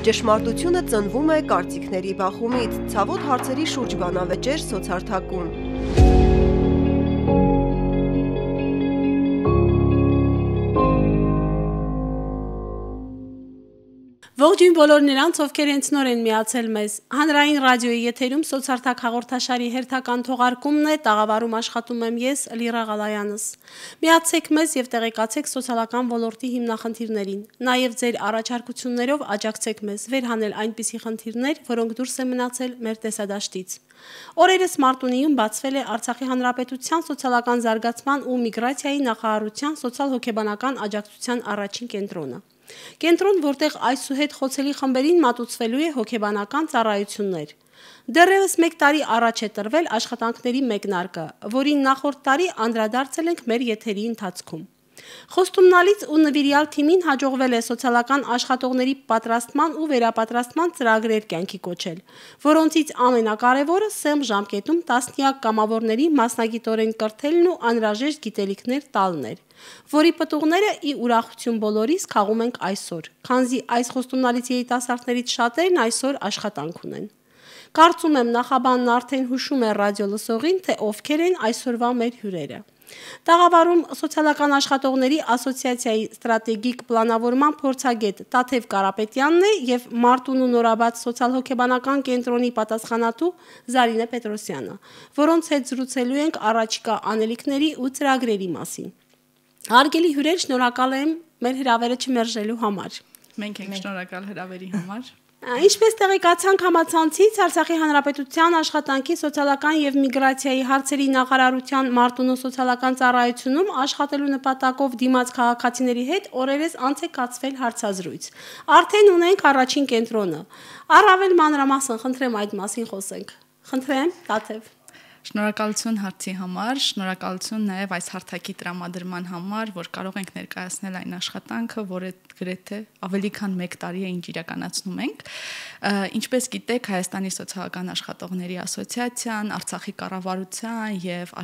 Ճշմարտությունը ծնվում է կարծիքների բախումից, ցավոտ հարցերի շուրջ բանավեճեր սոցհարթակում։ Ողջույն բոլոր նրանց, ովքեր հենց նոր են միացել մեզ։ Հանրային ռադիոյի եթերում սոցհարթակ հաղորդաշարի հերթական թողարկումն է, տաղավարում աշխատում եմ ես, Լիրա Ղալայանս։ Միացեք մեզ եւ տեղեկացեք սոցիալական ոլորտի հիմնախնդիրներին։ Նաեւ ձեր առաջարկություններով աջակցեք մեզ վերհանել այնպիսի խնդիրներ, որոնք դուրս են մնացել մեր տեսադաշտից։ Օրերս Մարտունիում բացվել է Արցախի Հանրապետության սոցիալական զարգացման ու միգրացիայի նախարարության սոցիալ-հոգեբանական աջակցության առաջին կենտրոնը։ Կենտրոն, որտեղ այսուհետ խոցելի խմբերին մատուցվելու է հոգեբանական ծառայություններ։ Դեռևս 1 տարի առաջ է տրվել աշխատանքների մեկնարկը, որին նախորդ տարի անդրադարձել ենք մեր եթերի ընթացքում։ Խոստումնալից ու նվիրյալ թիմին հաջողվել է սոցիալական աշխատողների պատրաստման ու վերապատրաստման ծրագրեր կյանքի կոչել, որոնցից ամենակարևորը սեմ ժամկետում տասնյակ կամավորների մասնագիտորեն կրթելն ու անհրաժեշտ գիտելիքներ տալն էր, որի պտուղները ի ուրախություն բոլորիս քաղում ենք այսօր, քանզի այս խոստումնալից երիտասարդներից շատերն այսօր աշխատանք ունեն։ Կարծում եմ նախաբանն արդեն հուշում է ռադիո լսողին, թե ովքեր են այսօրվա մեր հյուրերը։ Տաղավարում սոցիալական աշխատողների ասոցիացիայի ստրատեգիկ պլանավորման փորձագետ Տաթև Կարապետյանն է եւ Մարտունու նորաբաց սոցիալ-հոգեբանական կենտրոնի պատասխանատու Զարինե Պետրոսյանը, որոնց հետ զրուցելու ենք առաջիկա անելիքների ու ծրագրերի մասին։ Հարգելի հյուրեր, շնորհակալ եմ մեր հրավերը չմերժելու համար։ Մենք ենք շնորհակալ հրավերի համար։ Ինչպես տեղեկացանք համացանցից, Արցախի Հանրապետության աշխատանքի սոցիալական եւ միգրացիայի հարցերի նախարարության Մարտունու սոցիալական ծառայությունում աշխատելու նպատակով դիմաց քաղաքացիների հետ օրերս անց է կացվել հարցազրույց։ Արդեն ունենք առաջին կենտրոնը։ Առավել մանրամասն խնդրեմ այդ մասին խոսենք։ Խնդրեմ, Տաթև։ Շնորհակալություն հարցի համար, շնորհակալություն նաև այս հարթակի տրամադրման համար, որ կարող ենք ներկայացնել այն աշխատանքը, որը գրեթե ավելի քան 1 տարի է ինչ իրականացնում ենք։ Ինչպես գիտեք, Հայաստանի սոցիալական աշխատողների ասոցիացիան, Արցախի կառավարության եւ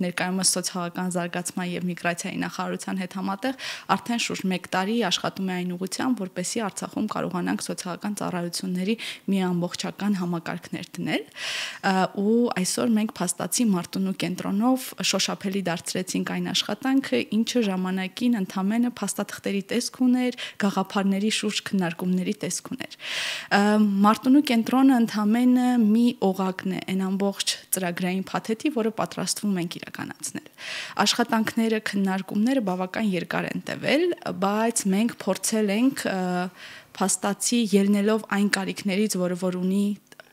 ներկայումս սոցիալական զարգացման եւ միգրացիայի նախարարության հետ համատեղ արդեն շուրջ 1 տարի աշխատում է այն ուղղությամբ, որպեսզի Արցախում կարողանանք սոցիալական ծառայությունների մի ամբողջական համակարգներ դնել։ Ու այսօր մենք փաստացի Մարտունու կենտրոնով շոշափելի դարձրեցինք այն աշխատանքը, ինչը ժամանակին ընդամենը փաստաթղթերի տեսք ուներ, գաղափարների շուրջ քննարկումների տեսք ուներ։ Մարտունու կենտրոնը ընդամենը մի օղակն է այն ամբողջ ծրագրային փաթեթի, որը պատրաստվում ենք իրականացնել։ Աշխատանքները, քննարկումները բավական երկար են տևել, բայց մենք փորձել ենք փաստացի ելնելով այն կարիքներից,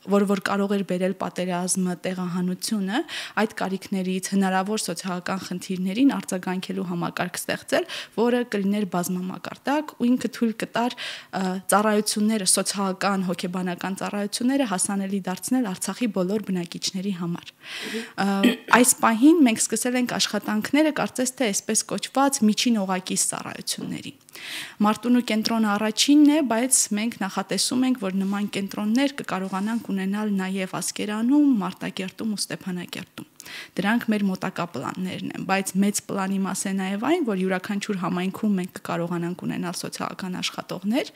որ կարող էր բերել պատերազմը, տեղահանությունը, այդ կարիքներից հնարավոր սոցիալական խնդիրներին արձագանքելու համակարգ ստեղծել, որը կլիներ բազմամակարդակ ու ինքը թույլ կտար ծառայությունները, սոցիալական, հոգեբանական ծառայությունները հասանելի դարձնել Արցախի բոլոր բնակիչների համար։ Այս պահին մենք սկսել ենք աշխատանքները, կարծես թե այսպես կոչված միջին օղակի ծառայությունների։ Մարտունու կենտրոնը առաջինն է, բայց մենք նախատեսում ենք, որ նման կենտրոններ կկարողանանք ունենալ նաև Ասկերանում, Մարտակերտում ու Ստեփանակերտում։ Դրանք մեր մոտակա պլաններն են, բայց մեծ պլանի մաս է նաև այն, որ յուրաքանչյուր համայնքում մենք կկարողանանք ունենալ սոցիալական աշխատողներ,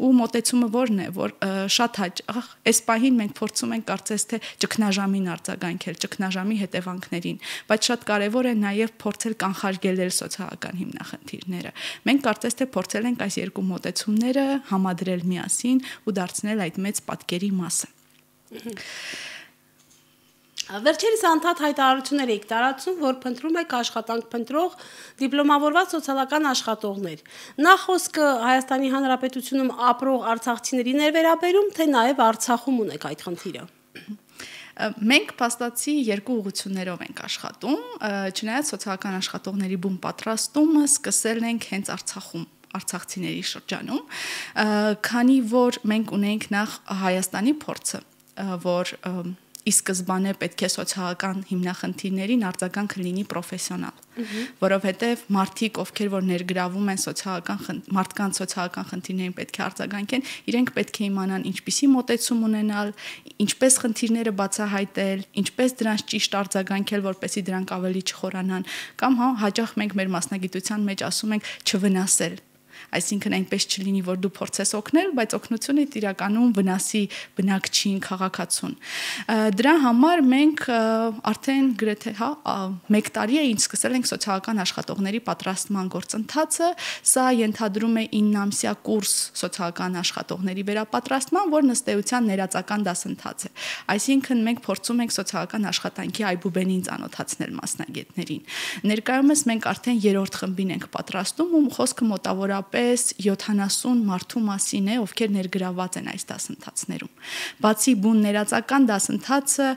ու մոտեցումը որն է, որ շատ հաճախ այս պահին մենք փորձում ենք կարծես թե ճգնաժամին արձագանքել, ճգնաժամի հետևանքներին, բայց շատ կարևոր է նաև փորձել կանխարգելել սոցիալական հիմնախնդիրները։ Մենք կարծես թե փորձել ենք այս երկու մոտեցումները համադրել միասին ու դարձնել այդ մեծ պատկերի մասը։ Վերջերս անդադ հայտարարություններ եք տարածում, որ փնտրում եք աշխատանք փնտրող դիպլոմավորված սոցիալական աշխատողներ։ Նախ խոսքը Հայաստանի Հանրապետությունում ապրող արցախցիներին է վերաբերում, թե նաև Արցախում ունեք այդ խնդիրը։ Մենք փաստացի երկու ուղղություններով ենք աշխատում, չնայած սոցիալական աշխատողների բուն պատրաստումը սկսել ենք հենց Արցախում, արցախցիների շրջանում, քանի որ մենք ունենք նախ Հայաստանի փորձը, որ ի սկզբանե պետք է սոցիալական հիմնախնդիրներին արձագանքը լինի պրոֆեսիոնալ, որովհետև մարդիկ, ովքեր որ ներգրավում են մարդկանց սոցիալական խնդիրներին պետք է արձագանքեն, իրենք պետք է իմանան ինչպիսի մոտեցում ունենալ, ինչպես խնդիրները բացահայտել, ինչպես դրանց ճիշտ արձագանքել, որպեսզի դրանք ավելի չխորանան, կամ հաճախ մենք մեր մասնագիտության մեջ ասում ենք չվնասել այսինքն այնպես չլինի, որ դու փորձես օգնել, բայց օգնությունը իրականում վնասի բնակչին, քաղաքացուն։ Դրա համար մենք արդեն գրեթե 1 տարի է ինչ սկսել ենք սոցիալական աշխատողների պատրաստման գործընթացը, սա ենթադրում է 9-ամսյա կուրս սոցիալական աշխատողների վերապատրաստման, որ նստեյության ներածական դասընթաց է։ Այսինքն մենք փորձում ենք սոցիալական աշխատանքի այբուբենին ծանոթացնել մասնագետներին։ Ներկայումս մենք արդեն 3-րդ խմբին ենք պատրաստում ու խոսքը մոտավորապես 70 մարդու մասին է, ովքեր ներգրավված են այս դասընթացներում։ Բացի բուն ներածական դասընթացը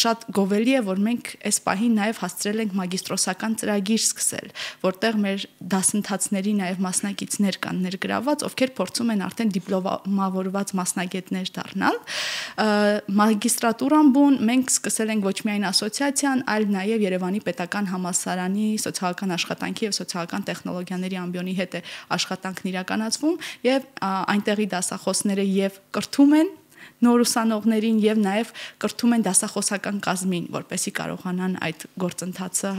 շատ գովելի է, որ մենք այս պահին նաև հասցրել ենք մագիստրոսական ծրագիր սկսել, որտեղ մեր դասընթացների նաև մասնակիցներ կան ներգրավված, ովքեր փորձում են արդեն դիպլոմավորված մասնագետներ դառնալ։ Մագիստրատուրան բուն մենք սկսել ենք ոչ միայն ասոցիացիան, այլ նաև Երևանի պետական համալսարանի սոցիալական աշխատանքի եւ սոցիալական տեխնոլոգիաների ամբիոնի հետ է աշխատանքն իրականացվում եւ այնտեղի դասախոսները եւ կրթում են նոր ուսանողներին եւ նաեւ կրթում են դասախոսական կազմին, որպեսզի կարողանան այդ գործընթացը,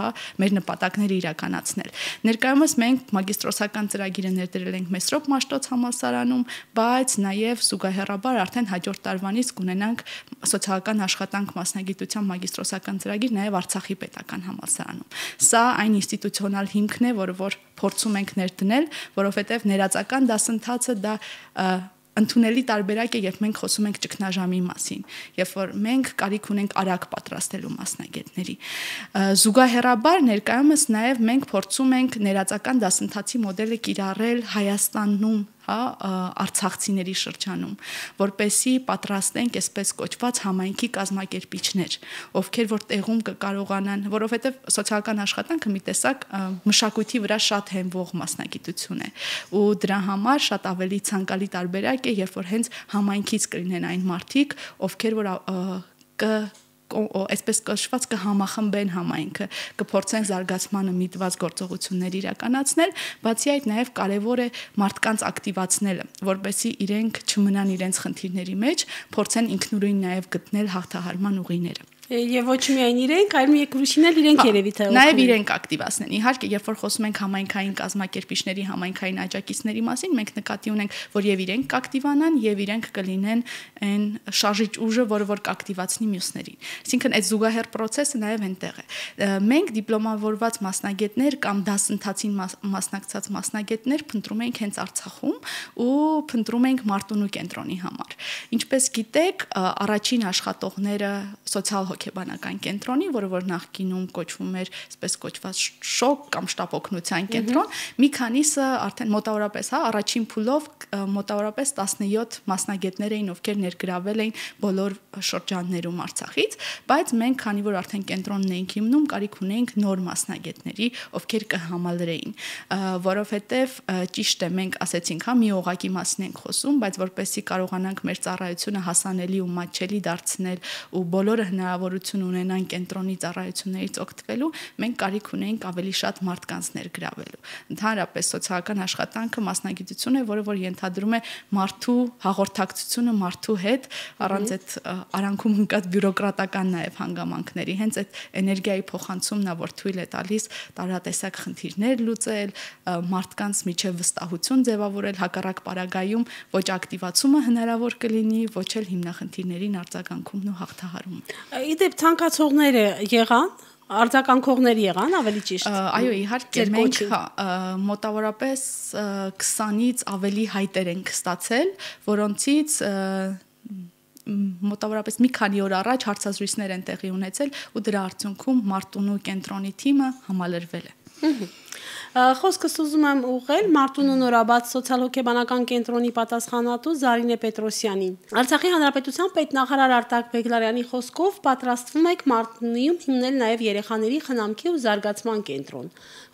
մեր նպատակները իրականացնել։ Ներկայումս մենք մագիստրոսական ծրագիրը ներդրել ենք Մեսրոպ Մաշտոց համալսարանում, բայց նաեւ զուգահեռաբար արդեն հաջորդ տարվանից կունենանք սոցիալական աշխատանք մասնագիտության մագիստրոսական ծրագիր նաեւ Արցախի պետական համալսարանում։ Սա այն ինստիտուցիոնալ հիմքն է, որ փորձում ենք ներդնել, որովհետեւ ներածական դասընթացը դա ընդունելի տարբերակ է, երբ մենք խոսում ենք ճգնաժամի մասին, երբ որ մենք կարիք ունենք արագ պատրաստելու մասնագետների։ Զուգահեռաբար ներկայումս նաև մենք փորձում ենք ներածական դասընթացի մոդելը կիրառել Հայաստանում, արցախցիների շրջանում, որպեսզի պատրաստենք այսպես կոչված համայնքի կազմակերպիչներ, ովքեր որ տեղում կկարողանան, որովհետև սոցիալական աշխատանքը մի տեսակ մշակույթի վրա շատ հենվող մասնագիտություն է, ու դրա համար շատ ավելի ցանկալի տարբերակ է, երբ որ հենց համայնքից կլինեն այն մարդիկ, ովքեր որ այսպես կոչված կհամախմբեն համայնքը, կփորձեն զարգացմանը միտված գործողություններ իրականացնել, բացի այդ նաև կարևոր է մարդկանց ակտիվացնելը, որպեսզի իրենք չմնան իրենց խնդիրների մեջ, փորձեն ինքնուրույն նաև գտնել հաղթահարման ուղիները։ Եվ ոչ միայն իրենք, այլ մի եկրուշին էլ իրենք երևի թե նաև իրենք ակտիվացնեն։ Իհարկե, երբ որ խոսում ենք համայնքային կազմակերպիչների, համայնքային աջակիցների մասին, մենք նկատի ունենք, որ եւ իրենք կակտիվանան եւ իրենք կլինեն այն շարժիչ ուժը, որը որ կակտիվացնի մյուսներին։ Այսինքն այդ զուգահեռ process-ը նաև այնտեղ է։ Մենք դիպլոմավորված մասնագետներ կամ դասընթացին մասնակցած մասնագետներ փնտրում ենք հենց Արցախում ու փնտրում ենք Մարտունու կենտրոնի համար։ Ինչպես գիտեք, առաջին աշխատողները սոցիալ հոգեբանական կենտրոնի, որը որ նախկինում կոչվում էր, այսպես կոչված շոկ կամ շտապօգնության կենտրոն, մի քանիսը արդեն մոտավորապես, առաջին փուլով մոտավորապես 17 մասնագետներ էին, ովքեր ներգրավել էին բոլոր շրջաններում Արցախից, բայց մենք, քանի որ արդեն կենտրոնն էինք հիմնում, կարիք ունեինք նոր մասնագետների, ովքեր կհամալրեին, որովհետև ճիշտ է, մենք ասեցինք, մի օղակի մասին ենք խոսում, բայց որպեսզի կարողանանք մեր ծառայությունը հասանելի ու մատչելի դարձնել ու բոլորը հնարավորություն ունենան կենտրոնի ծառայություններից օգտվելու, մենք կարիք ունենք ավելի շատ մարդկանց ներգրավելու։ Ընդհանրապես սոցիալական աշխատանքը մասնագիտություն է, որը որ ենթադրում է մարդու հաղորդակցությունը մարդու հետ, առանց այդ արանքում ընկած բյուրոկրատական նաև հանգամանքների, հենց այդ էներգիայի փոխանցումն է, որ թույլ է տալիս տարատեսակ խնդիրներ լուծել, մարդկանց միջև վստահություն ձևավորել, հակառակ պարագայում ոչ ակտիվացումը հնարավոր կլինի, ոչ էլ հիմնախնդիրներին արձագանքումն ու հաղթահարումը։ Իդեպ ցանկացողները եղան, արձագանքողների եղան, ավելի ճիշտ։ Այո, իհարկե, մենք մոտավորապես 20-ից ավելի հայտեր ենք ստացել, որոնցից մոտավորապես մի քանի օր առաջ հարցազրույցներ են տեղի ունեցել ու դրա արդյունքում Մարտունու կենտրոնի թիմը համալրվել է։ Խոսքս ուզում եմ ուղղել Մարտունու նորաբաց սոցիալ-հոգեբանական կենտրոնի պատասխանատու Զարինե Պետրոսյանին։ Արցախի հանրապետության պետնախարար Արտակ Բեգլարյանի խոսքով պատրաստվում եք Մարտունիում հիմնել նաև երեխաների խնամքի ու զարգացման կենտրոն,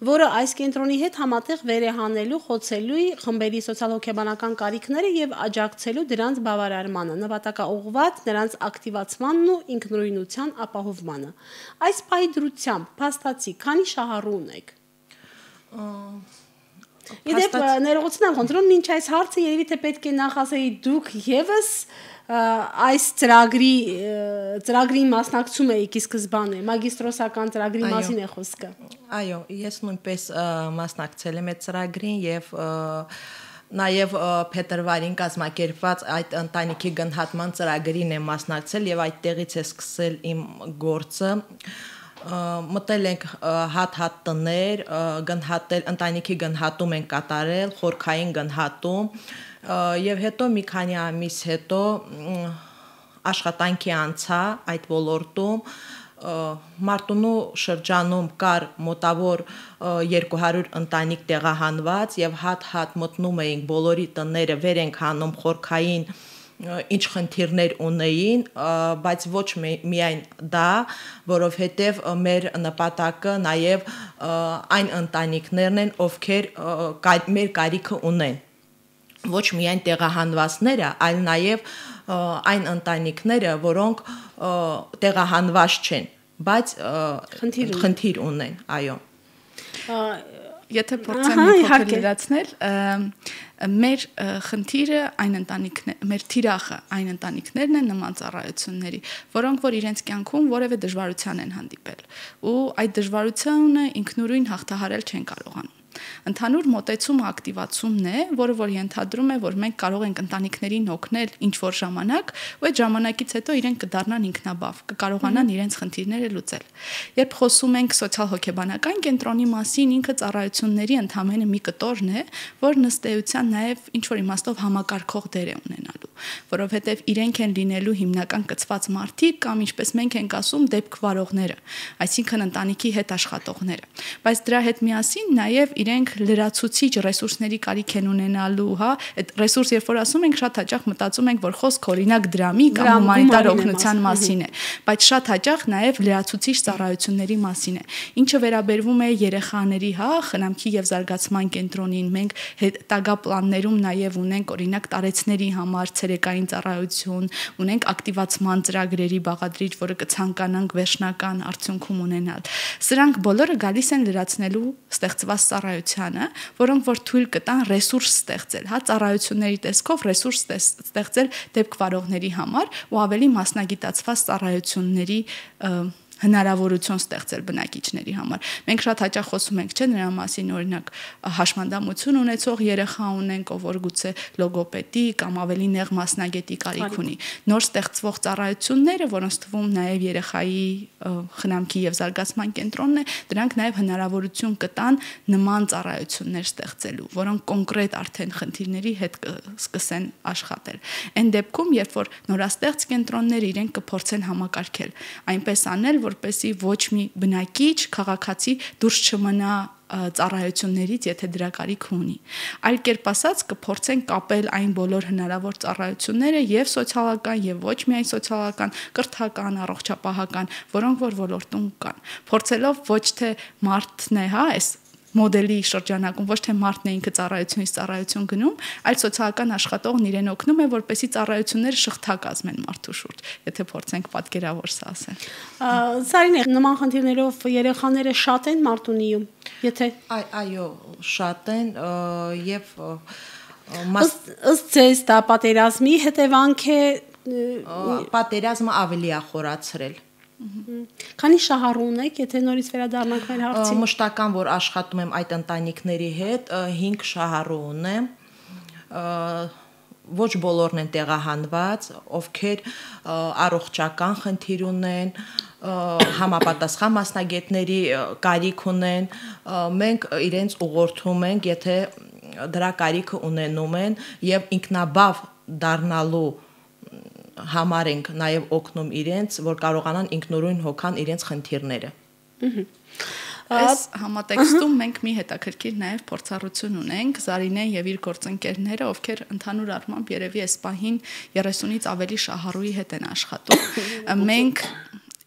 որը այս կենտրոնի հետ համատեղ վերեհանելու, խոցելու խմբերի սոցիալ-հոգեբանական կարիքները եւ աջակցելու դրանց բավարարմանը, նպատակաուղղված նրանց ակտիվացմանն ու ինքնուրույնության ապահովմանը։ Այս պահի դրությամբ փաստացի քանի շահառու ունեք։ Իդեպ ներողություն եմ խնդրում, մինչ այս հարցը երևի թե պետք է նախասեի դուք եւս այս ծրագրի մասնակցում եք ի սկզբանե, մագիստրոսական ծրագրի մասին է խոսքը։ Այո, ես նույնպես մասնակցել եմ այդ ծրագրին եւ նաև փետրվարին կազմակերպված այդ ընտանիքի գնահատման ծրագրին եմ մասնակցել եւ այդտեղից է սկսել իմ գործը։ Մտել ենք հատ տներ, գնահատել, ընտանիքի գնահատում ենք կատարել, խորքային գնահատում եւ հետո մի քանի ամիս հետո աշխատանքի անցա այդ ոլորտում Մարտունու շրջանում կար մոտավոր 200 ընտանիք տեղահանված եւ հատ մտնում էինք բոլորի տները վեր ենք հանում խորքային ինչ խնդիրներ ունեին, բայց ոչ միայն դա, որովհետև մեր նպատակը նաև այն ընտանիքներն են, ովքեր մեր կարիքը ունեն։ Ոչ միայն տեղահանվածները, այլ նաև այն ընտանիքները, որոնք տեղահանված չեն, բայց խնդիր ունեն, այո։ Եթե փորձեմ մի փոքր լրացնել, մեր խնդիրը այն ընտանիքներ, մեր թիրախը այն ընտանիքներն են նման ծառայությունների, որոնք որ իրենց կյանքում որևէ դժվարության են հանդիպել, ու այդ դժվարությունը ինքնուրույն հաղթահարել չեն կարողանում։ Ընդհանուր մոտեցումը ակտիվացումն է, որը որ ենթադրում է, որ մենք կարող ենք ընտանիքներին օգնել ինչ-որ ժամանակ, ու այդ ժամանակից հետո իրենք կդառնան ինքնաբավ, կկարողանան իրենց խնդիրները լուծել։ Երբ խոսում ենք սոցիալ-հոգեբանական կենտրոնի մասին, ինքը ծառայությունների ընդհանրապես մի կտորն է, որ ըստ էության նաև ինչ-որ իմաստով համակարգող դեր է ունենալու, որովհետև իրենք են լինելու հիմնական կցված մարդիկ կամ ինչպես մենք ենք ասում դեպք վարողները, այսինքն ընտանիքի հետ աշխատողները։ Բայց դրա հետ միասին նաև իրենք լրացուցիչ ռեսուրսների կարիք են ունենալու, հա, այդ ռեսուրս երբ որ ասում ենք, շատ հաճախ մտածում ենք, որ խոսքը օրինակ դրամի կամ հումանիտար օգնության մասին է, բայց շատ հաճախ նաև լրացուցիչ ծառայությունների մասին է։ Ինչը վերաբերվում է երեխաների, հա, խնամքի եւ զարգացման կենտրոնին, մենք հետագա պլաններում նաև ունենք օրինակ տարեցների համար ցերեկային ծառայություն, ունենք ակտիվացման ծրագրերի բաղադրիչ, որը կցանկանանք վերջնական արդյունքում ունենալ։ Սրանք բոլորը գալիս են լրացնելու ստեղծված ծառայությանը, որոնք որ թույլ կտան ռեսուրս ստեղծել, հա, ծառայությունների տեսքով ռեսուրս ստեղծել դեպք վարողների համար ու ավելի մասնագիտացված ծառայությունների հնարավորություն ստեղծել բնակիչների համար։ Մենք շատ հաճախ խոսում ենք, չէ, նրա մասին, օրինակ, հաշմանդամություն ունեցող երեխա ունենք, ով որ գուցե լոգոպեդի կամ ավելի նեղ մասնագետի կարիք ունի։ Նոր ստեղծվող ծառայությունները, որոնց թվում նաև երեխայի խնամքի եւ զարգացման կենտրոնն է, դրանք նաև հնարավորություն կտան նման ծառայություններ ստեղծելու, որոնք կոնկրետ արդեն խնդիրների հետ կսկսեն աշխատել։ Այն դեպքում, երբ որ նորաստեղծ կենտրոնները իրենք կփորձեն համակարգել, այնպես անել, որպեսզի ոչ մի բնակիչ, քաղաքացի դուրս չմնա ծառայություններից, եթե դրա կարիք ունի։ Այլ կերպ ասած, կփորձեն կապել այն բոլոր հնարավոր ծառայությունները եւ սոցիալական եւ ոչ միայն սոցիալական, կրթական, առողջապահական, որոնք որ ոլորտում կան։ Փորձելով ոչ թե մարդն է, հա, այս մոդելի շրջանակում ոչ թե մարդն է ինքը ծառայությունից ծառայություն գնում, այլ սոցիալական աշխատողն իրեն օգնում է, որպեսզի ծառայությունները շղթա կազմեն մարդու շուրջ, եթե փորձենք պատկերավոր սա ասել։ Սարինե, նման խնդիրներով երեխաները շատ են Մարտունիում, եթե այո, շատ են եւ ըստ ձեզ դա պատերազմի հետևանք է, պատերազմը ավելի է խորացրել։ Քանի շահառու ունեք, եթե նորից վերադառնանք մեր հարցին։ Մշտական, որ աշխատում եմ այդ ընտանիքների հետ, 5 շահառու ունեմ, ոչ բոլորն են տեղահանված, ովքեր առողջական խնդիր ունեն, համապատասխան մասնագետների կարիք ունեն, մենք իրենց ուղղորդում ենք, եթե դրա կարիքը ունենում են եւ ինքնաբավ դառնալու համար ենք նաև օգնում իրենց, որ կարողանան ինքնուրույն հոգան իրենց խնդիրները։ Այս համատեքստում մենք մի հետաքրքիր նաև փորձառություն ունենք, Զարինեն եւ իր գործընկերները, ովքեր ընդհանուր առմամբ երևի այս պահին 30-ից ավելի շահառուի հետ են աշխատում։ Մենք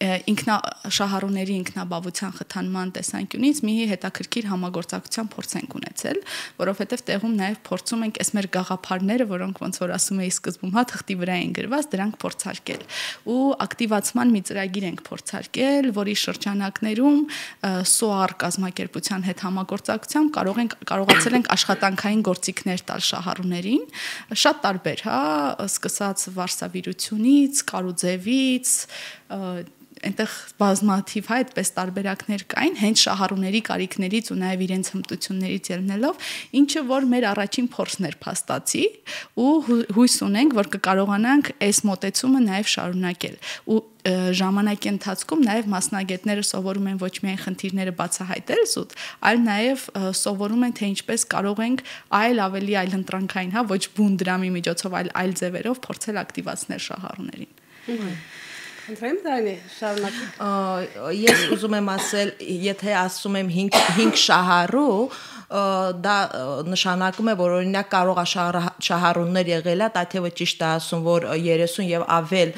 շահառուների ինքնաբավության խթանման տեսանկյունից մի հետաքրքիր համագործակցության փորձ ենք ունեցել, որովհետև տեղում նաև փորձում ենք այս մեր գաղափարները, որոնք ոնց որ ասում էի սկզբում, թղթի վրա են գրված, դրանք փորձարկել։ Ու ակտիվացման մի ծրագիր ենք փորձարկել, որի շրջանակներում SOAR կազմակերպության հետ համագործակցությամբ կարողացել ենք աշխատանքային գործիքներ տալ շահառուներին, շատ տարբեր, սկսած վարսավիրությունից, կարուձևից, այնտեղ բազմաթիվ այդպես տարբերակներ կային, հենց շահառուների կարիքներից ու նաև իրենց հմտություններից ելնելով, ինչը որ մեր առաջին փորձն էր փաստացի ու հույս ունենք, որ կկարողանանք այս մոտեցումը նաև շարունակել։ Ու ժամանակի ընթացքում նաև մասնագետները սովորում են ոչ միայն խնդիրները բացահայտել զուտ, այլ նաև սովորում են, թե ինչպես կարող ենք ավելի այլընտրանքային, ոչ բուն դրամի միջոցով, այլ ձևերով փորձել ակտիվացնել շահառուներին։ Խնդրեմ դանի շարունակի։ Ես ուզում եմ ասել, եթե ասում եմ 5 շահառու, դա նշանակում է, որ օրինակ կարող է շահառուներ եղել է, տաթևը ճիշտ է ասում, որ 30 եւ ավել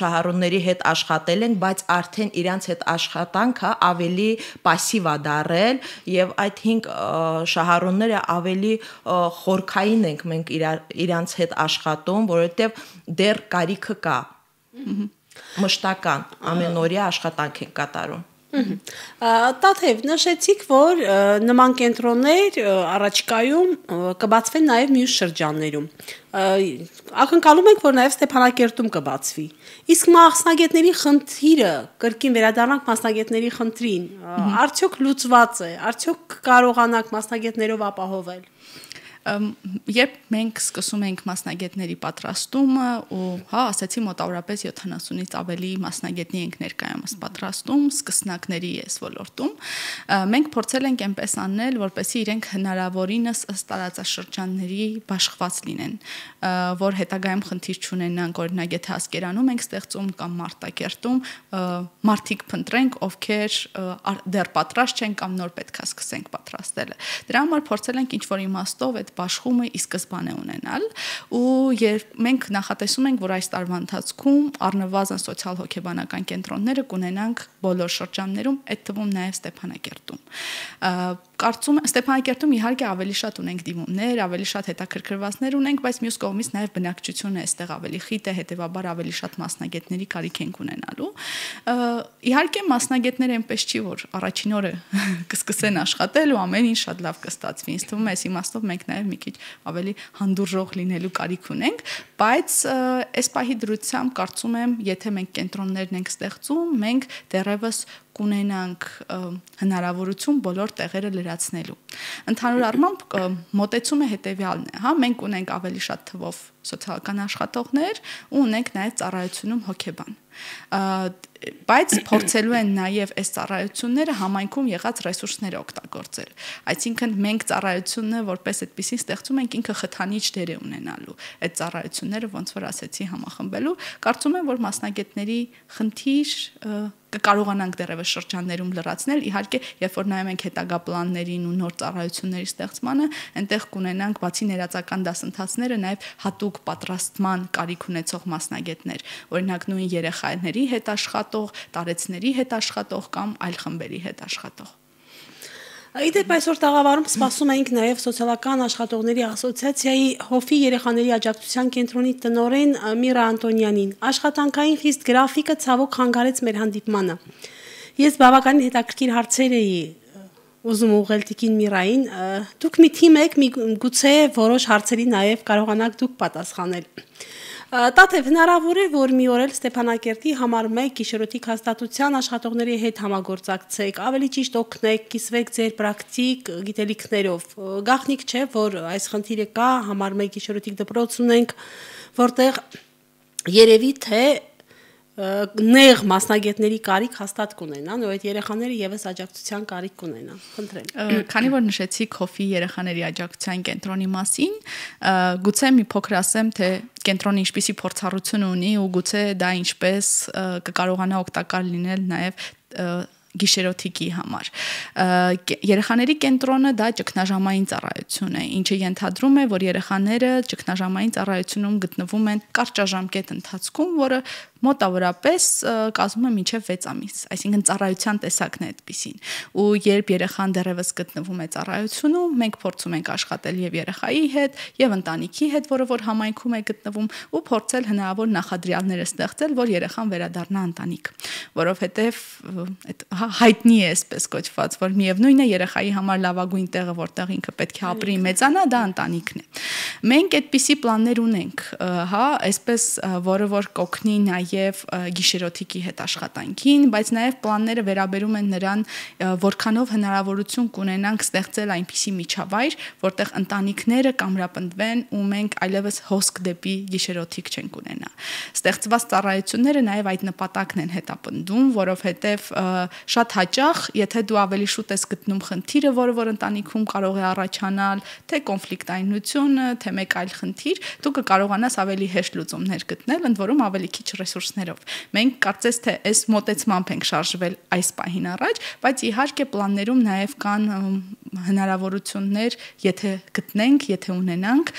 շահառուների հետ աշխատել ենք, բայց արդեն իրանց հետ աշխատանքը ավելի пассив է դարել եւ այդ 5 շահառուները ավելի խորքային ենք մենք իրանց հետ աշխատում, որովհետեւ դեռ կարիքը կա։ Մշտական ամենօրյա աշխատանք են կատարում։ Տաթև նշեցիք, որ նման կենտրոններ առաջիկայում կբացվեն նաև մյուս շրջաններում։ Ակնկալում ենք, որ նաև Ստեփանակերտում կբացվի։ Իսկ մասնագետների խնդիրը, կրկին վերադառնանք մասնագետների խնդրին, արդյոք լուծված է, արդյոք կարողանանք մասնագետներով ապահովել։ Երբ մենք սկսում ենք մասնագետների պատրաստումը ու ասացի մոտավորապես 70-ից ավելի մասնագետների ենք ներկայումս պատրաստում, սկսնակների ես ոլորտում, մենք փորձել ենք այնպես անել, որպեսզի իրենք հնարավորինս ըստ տարածաշրջանների բաշխված լինեն, որ հետագայում խնդիր չունենան, օրինակ եթե Ասկերանում ենք ստեղծում կամ Մարտակերտում, մարդիկ փնտրենք, ովքեր դեռ պատրաստ չեն կամ նոր պետքա սկսենք պատրաստելը։ Դրա համար փորձել ենք ինչ-որ իմաստով այդ բաշխումը ի սկզբանե ունենալ ու երբ մենք նախատեսում ենք, որ այս տարվա ընթացքում առնվազն սոցիալ-հոգեբանական կենտրոնները կունենանք բոլոր շրջաններում, այդ թվում նաև Ստեփանակերտում։ Կարծում եմ Ստեփանակերտում իհարկե ավելի շատ ունենք դիմումներ, ավելի շատ հետաքրքրվածներ ունենք, բայց մյուս կողմից նաև բնակչությունը այստեղ ավելի խիտ է, հետեւաբար ավելի շատ մասնագետների կարիք ենք ունենալու։ Իհարկե մասնագետները այնպես չի, որ առաջին օրը կսկսեն աշխատել ու ամեն ինչ շատ լավ կստացվի։ Ինձ թվում է, այս իմաստով մենք նաև մի քիչ ավելի հանդուրժող լինելու կարիք ունենք, բայց այս պահի դրությամբ կարծում եմ, եթե մենք կենտրոններն ենք ստեղծում, մենք դեռևս կունենանք հնարավորություն բոլոր տեղերը լրացնելու։ Ընդհանուր առմամբ մոտեցումը հետևյալն է, մենք ունենք ավելի շատ թվով սոցիալական աշխատողներ ու ունենք նաև ծառայությունում հոգեբան։ Բայց փորձելու են նաև այս ծառայությունները համայնքում եղած ռեսուրսները օգտագործել։ Այսինքն մենք ծառայությունը որպես այդպեսին ստեղծում ենք ինքը խթանիչ դեր է ունենալու։ Այդ ծառայությունները ոնց որ ասեցի համախմբելու, կարծում եմ, որ մասնագետների խնդիր կկարողանանք դեռևս շրջաններում լրացնել, իհարկե, երբ որ նայում ենք հետագա պլաններին ու նոր ծառայությունների ստեղծմանը, այնտեղ կունենանք բացի ներածական դասընթացները նաև հատուկ պատրաստման կարիք ունեցող մասնագետներ, օրինակ նույն երեխաների հետ աշխատող, տարեցների հետ աշխատող կամ այլ խմբերի հետ աշխատող։ Իդեպ այսօր տաղավարում սպասում էինք նաև սոցիալական աշխատողների ասոցիացիայի հովի երեխաների աջակցության կենտրոնի տնօրեն Միրա Անտոնյանին։ Աշխատանքային խիստ գրաֆիկը ցավոք խանգարեց մեր հանդիպմանը։ Ես բավականին հետաքրքիր հարցեր էի ուզում ուղղել տիկին Միրային։ Դուք մի թիմ եք, գուցե որոշ հարցերի նաև կարողանաք դուք պատասխանել։ Տաթև հնարավոր է, որ մի օր էլ Ստեփանակերտի համար 1 գիշերօթիկ հաստատության աշխատողների հետ համագործակցեք, ավելի ճիշտ օգնեք, կիսվեք ձեր պրակտիկ գիտելիքներով։ Գաղտնիք չէ, որ այս խնդիրը կա, համար 1 գիշերօթիկ դպրոց ունենք, որտեղ երևի թե նեղ մասնագետների կարիք հաստատ կունենան, ու այդ երեխաները եւս աջակցության կարիք կունենան։ Խնդրեմ։ Քանի որ նշեցիք հովի երեխաների աջակցության կենտրոնի մասին, գուցե մի փոքր ասեմ, թե կենտրոնը ինչպիսի փորձառություն ունի ու գուցե դա ինչպես կկարողանա օգտակար լինել նաեւ գիշերօթիկի համար։ Երեխաների կենտրոնը դա ճգնաժամային ծառայություն է, ինչը ենթադրում է, որ երեխաները ճգնաժամային ծառայությունում գտնվում են կարճաժամկետ ընթացքում, որը մոտավորապես կազմում է մինչև 6 ամիս, այսինքն ծառայության տեսակն է այդպիսին։ Ու երբ երեխան դեռևս գտնվում է ծառայությունում, մենք փորձում ենք աշխատել եւ երեխայի հետ, եւ ընտանիքի հետ, որը որ համայնքում է գտնվում, ու փորձել հնարավոր նախադրյալները ստեղծել, որ երեխան վերադառնա ընտանիք, որովհետեւ այդ հայտնի է այսպես կոչված, որ միևնույն է երեխայի համար լավագույն տեղը, որտեղ ինքը պետք է ապրի, մեծանա, դա ընտանիքն է։ Մենք այդպիսի պլաններ ունենք, հա, այսպես որը որ կօգնի նաև գիշերօթիկի հետ աշխատանքին, բայց նաև պլանները վերաբերում են նրան, որքանով հնարավորություն կունենանք ստեղծել այնպիսի միջավայր, որտեղ ընտանիքները կամրապնդվեն ու մենք այլևս հոսք դեպի գիշերօթիկ չենք ունենա։ Ստեղծված ծառայությունները նաև այդ նպատակն են հետապնդում, որովհետև շատ հաճախ, եթե դու ավելի շուտ ես գտնում խնդիրը, որը որ ընտանիքում կարող է առաջանալ, թե կոնֆլիկտայնությունը, թե մեկ այլ խնդիր, դու կկարողանաս ավելի հեշտ լուծումներ գտնել, ընդ որում ավելի քիչ ռեսուրսներով։ Մենք կարծես թե այս մոտեցմամբ ենք շարժվել այս պահին առաջ, բայց իհարկե պլաններում նաև կան հնարավորություններ, եթե գտնենք, եթե ունենանք,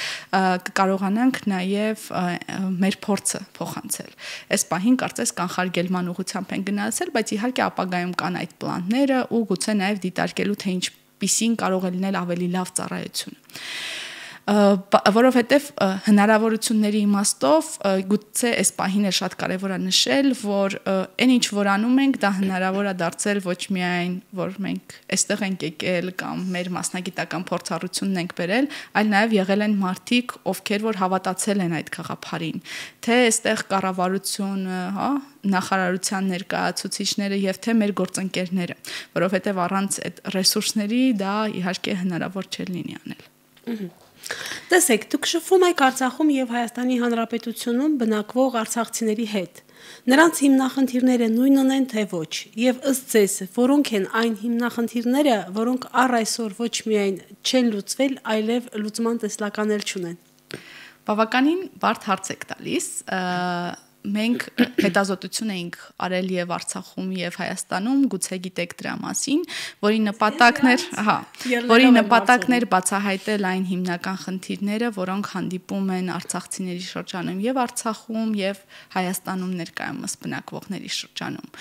կկարողանանք նաև մեր փորձը փոխանցել։ Այս պահին կարծես կանխարգելման ուղղությամբ են գնացել, բայց իհարկե ապագայում կան այդ պլանները ու գուցե նաև դիտարկելու թե ինչպիսին կարող է լինել ավելի լավ ծառայություն։ Որովհետև հնարավորությունների իմաստով գուցե այս պահին է շատ կարևոր է նշել, որ այն ինչ որ անում ենք, դա հնարավոր է դարձել ոչ միայն, որ մենք այստեղ ենք եկել կամ մեր մասնագիտական փորձառությունն ենք բերել, այլ նաև եղել են մարդիկ, ովքեր որ հավատացել են այդ գաղափարին, թե այստեղ կառավարությունը, հա, նախարարության ներկայացուցիչները եւ թե մեր գործընկերները, որովհետև առանց այդ ռեսուրսների դա իհարկե հնարավոր չէ լինի անել։ Տեսեք, դուք շփվում եք Արցախում եւ Հայաստանի Հանրապետությունում բնակվող արցախցիների հետ։ Նրանց հիմնախնդիրները նույնն են թե ոչ, եւ ըստ ձեզ, որոնք են այն հիմնախնդիրները, որոնք առ այսօր ոչ միայն չեն լուծվել, այլև լուծման տեսլական էլ չունեն։ Բավականին բարդ հարց եք տալիս։ Մենք հետազոտություն էինք արել եւ Արցախում եւ Հայաստանում, գուցե գիտեք դրա մասին, որի նպատակն էր բացահայտել այն հիմնական խնդիրները, որոնք հանդիպում են արցախցիների շրջանում եւ Արցախում եւ Հայաստանում ներկայումս բնակվողների շրջանում։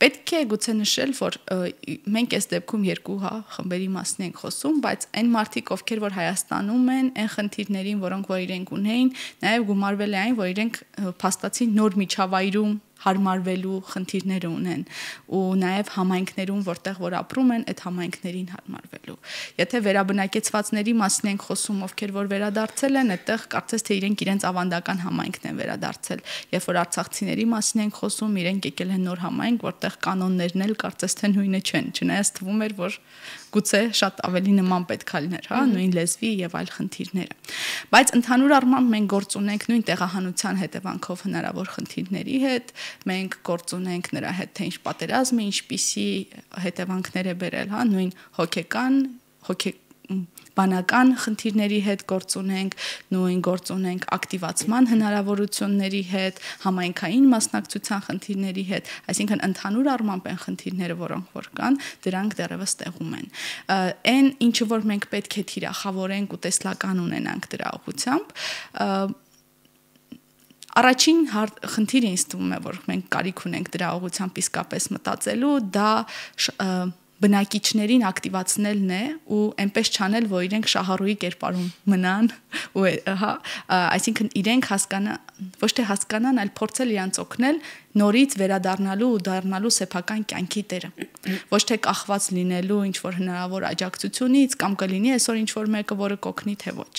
Պետք է գուցե նշել, որ մենք այս դեպքում երկու խմբերի մասին ենք խոսում, բայց այն մարդիկ, ովքեր որ Հայաստանում են, այն խնդիրներին, որոնք որ իրենք ունեին, նաև գումարվել է այն, որ իրենք փաստացի նոր միջավայրում հարմարվելու խնդիրներ ունեն ու նաև համայնքներում, որտեղ որ ապրում են, այդ համայնքներին հարմարվելու։ Եթե վերաբնակեցվածների մասին ենք խոսում, ովքեր որ վերադարձել են, այդտեղ կարծես թե իրենց ավանդական համայնքն են վերադարձել։ Երբ որ արցախցիների մասին ենք խոսում, իրենք եկել են նոր համայնք, որտեղ կանոններն էլ կարծես թե նույնը չեն, չնայած թվում էր, որ գուցե շատ ավելի նման պետք է լիներ, հա, նույն լեզվի եւ այլ խնդիրները։ Բայց ընդհանուր առմամբ մենք գործ ունենք նույն տեղահանության հետևանքով հնարավոր խնդիրների հետ, մենք գործ ունենք նրա հետ, թե ինչ պատերազմը, ինչպիսի հետևանքներ է բերել, հա, նույն բանական խնդիրների հետ գործ ունենք, նույն գործ ունենք ակտիվացման հնարավորությունների հետ, համայնքային մասնակցության խնդիրների հետ, այսինքն ընդհանուր առմամբ են խնդիրները, որոնք որ կան, դրանք դեռևս տեղում են։ Այն ինչը որ մենք պետք է թիրախավորենք ու տեսլական ունենանք դրա ուղղությամբ, առաջին խնդիրը ինձ թվում է, որ մենք կարիք ունենք դրա ուղղությամբ իսկապես մտածելու, դա բնակիչներին ակտիվացնելն է ու այնպես չանել, որ իրենք շահառուի կերպարում մնան ու հա, այսինքն իրենք ոչ թե հասկանան, այլ փորձել իրանց օգնել նորից վերադառնալու ու դառնալու սեփական կյանքի տերը։ Ոչ թե կախված լինելու ինչ որ հնարավոր աջակցությունից կամ կլինի այսօր ինչ որ մեկը, որը կօգնի թե ոչ։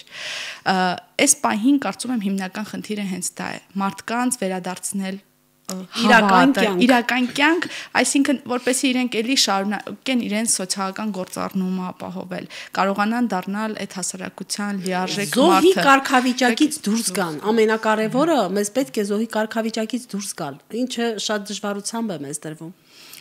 Այս պահին կարծում եմ հիմնական խնդիրը հենց դա է՝ մարդկանց վերադարձնել իրական կյանք, այսինքն որպեսզի իրենք էլի շարունակեն իրենց սոցիալական գործառնումը ապահովել, կարողանան դառնալ այդ հասարակության լիարժեք մարդը։ Զոհի կարգավիճակից դուրս գան, ամենակարևորը մեզ պետք է զոհի կարգավիճակից դուրս գալ, ինչը շատ դժվարությամբ է մեզ դրվում։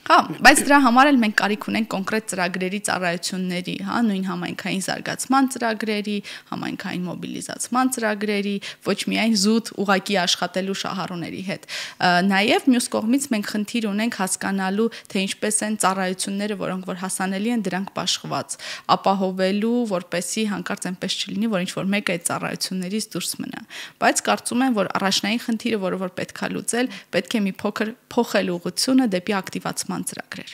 Հա, բայց դրա համար էլ մենք կարիք ունենք կոնկրետ ծրագրերի ծառայությունների, հա, նույն համայնքային զարգացման ծրագրերի, համայնքային մոբիլիզացման ծրագրերի, ոչ միայն զուտ ուղակի աշխատելու շահառուների հետ։ Նաև մյուս կողմից մենք խնդիր ունենք հասկանալու, թե ինչպես են ծառայությունները, որոնք որ հասանելի են, դրանք բաշխված, ապահովելու, որպեսզի հանկարծ այնպես չլինի, որ ինչ-որ մեկը այդ ծառայություններից դուրս մնա։ Բայց կարծում եմ, որ առաջնային խնդիրը, որը որ պետք է լուծել, պետք է մի փոքր փոխել ուղղությունը դեպի ակտիվացման ծրագրեր։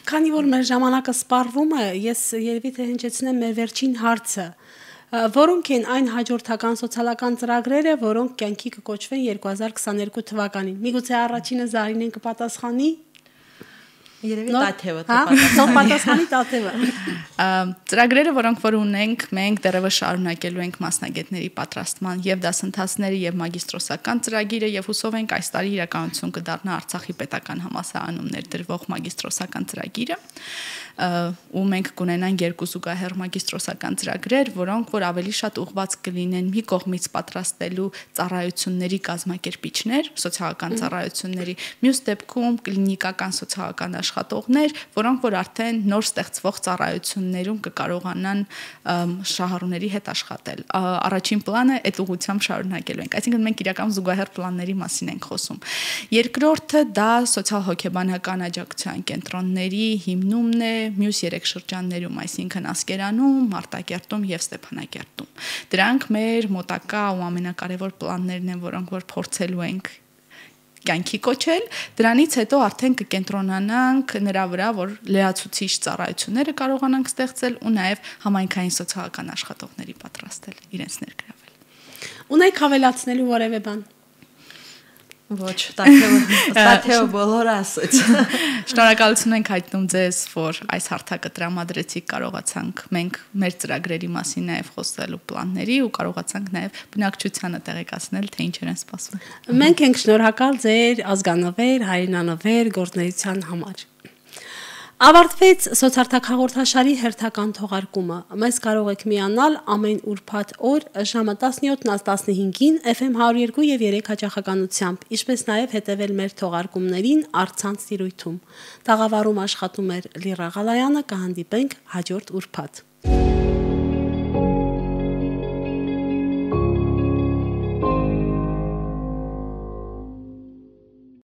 Քանի որ մեր ժամանակը սպառվում է, ես երևի թե հնչեցնեմ մեր վերջին հարցը, որոնք են այն հաջորդական սոցիալական ծրագրերը, որոնք կյանքի կկոչվեն 2022 թվականին։ Միգուցե առաջինը Զարինեն կպատասխանի։ Երևի Տաթևը պատասխանի Տաթևը։ Ծրագրերը, որոնք որ ունենք, մենք դեռևս շարունակելու ենք մասնագետների պատրաստման եւ դասընթացները եւ մագիստրոսական ծրագիրը եւ հուսով ենք այս տարի իրականություն կդառնա Արցախի պետական համալսարանում ներդրվող մագիստրոսական ծրագիրը, ու մենք կունենանք 2 զուգահեռ մագիստրոսական ծրագրեր, որոնք որ ավելի շատ ուղղված կլինեն մի կողմից պատրաստելու ծառայությունների կազմակերպիչներ, սոցիալական ծառայությունների, մյուս դեպքում կլինիկական սոցիալական աշխատողներ, որոնք որ արդեն նոր ստեղծվող ծառայություններում կկարողանան շահառուների հետ աշխատել։ Առաջին պլանը այդ ուղղությամբ շարունակելու ենք, այսինքն մենք իրական զուգահեռ պլանների մասին ենք խոսում։ Երկրորդը դա սոցիալ-հոգեբանական աջակցության կենտրոնների հիմնումն է մյուս 3 շրջաններում, այսինքն Ասկերանում, Մարտակերտում եւ Ստեփանակերտում։ Դրանք մեր մոտակա ու ամենակարևոր պլաններն են, որոնք որ փորձելու ենք կյանքի կոչել, դրանից հետո արդեն կկենտրոնանանք նրա վրա, որ լրացուցիչ ծառայությունները կարողանանք ստեղծել ու նաև համայնքային սոցիալական աշխատողների պատրաստել, իրենց ներգրավել։ Ունեք հավելացնելու որևէ բան։ Ոչ, Տաթևը բոլորը ասաց։ Շնորհակալություն ենք հայտնում ձեզ, որ այս հարթակը տրամադրեցիք, կարողացանք մենք մեր ծրագրերի մասին նաև խոսելու պլանների ու կարողացանք նաև բնակչությանը տեղեկացնել, թե ինչեր են սպասվում։ Մենք ենք շնորհակալ ձեր ազգանվեր, հայրենանվեր գործունեության համար։ Ավարտվեց սոցարթակ հաղորդաշարի հերթական թողարկումը։ Մեզ կարող եք միանալ ամեն ուրբաթ օր ժամը 17-15-ին FM 102 եւ 3 հաճախականությամբ, ինչպես նաեւ հետեւել մեր թողարկումներին առցանց տիրույթում։ Տաղավարում աշխատում էր Լիրա Ղալայանը, կհանդիպենք հաջորդ ուրբաթ։